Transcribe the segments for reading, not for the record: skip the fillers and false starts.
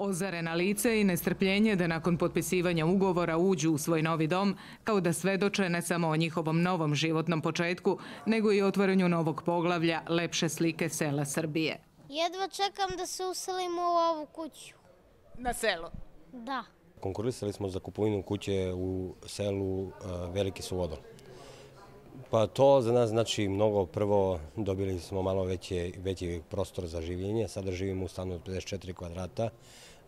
Ozarena lice i nestrpljenje da nakon potpisivanja ugovora uđu u svoj novi dom, kao da svedoče ne samo o njihovom novom životnom početku, nego i otvaranju novog poglavlja lepše slike sela Srbije. Jedva čekam da se uselimo u ovu kuću. Na selu? Da. Konkurisali smo za kupovinu kuće u selu Veliki Suvodol. Pa to za nas znači mnogo. Prvo dobili smo malo veći prostor za življenje. Sada živimo u stanu od 54 kvadrata.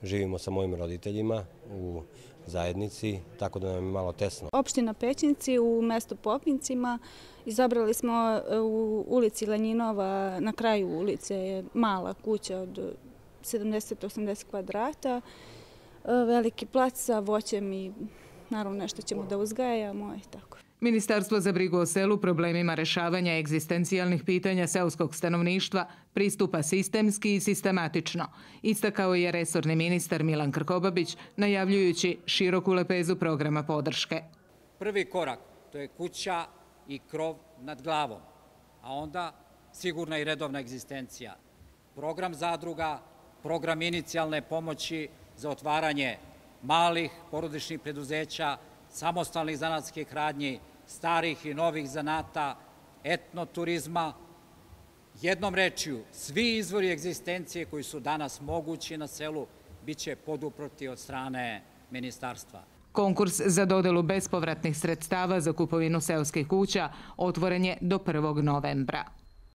Živimo sa mojim roditeljima u zajednici, tako da nam je malo tesno. Opština Pećinci u mestu Popincima. Izabrali smo u ulici Lenjinova, na kraju ulice je mala kuća od 70-80 kvadrata. Veliki plac sa voćem i naravno nešto ćemo da uzgajamo i tako. Ministarstvo za brigu o selu problemima rešavanja egzistencijalnih pitanja seoskog stanovništva pristupa sistemski i sistematično, istakao je resorni ministar Milan Krkobabić, najavljujući široku lepezu programa podrške. Prvi korak, to je kuća i krov nad glavom, a onda sigurna i redovna egzistencija. Program zadruga, program inicijalne pomoći za otvaranje malih porodičnih preduzeća, samostalnih zanatskih radnji, starih i novih zanata, etnoturizma. Jednom rečju, svi izvori egzistencije koji su danas mogući na selu biće poduprti od strane ministarstva. Konkurs za dodelu bespovratnih sredstava za kupovinu seoskih kuća otvoren je do 1. novembra.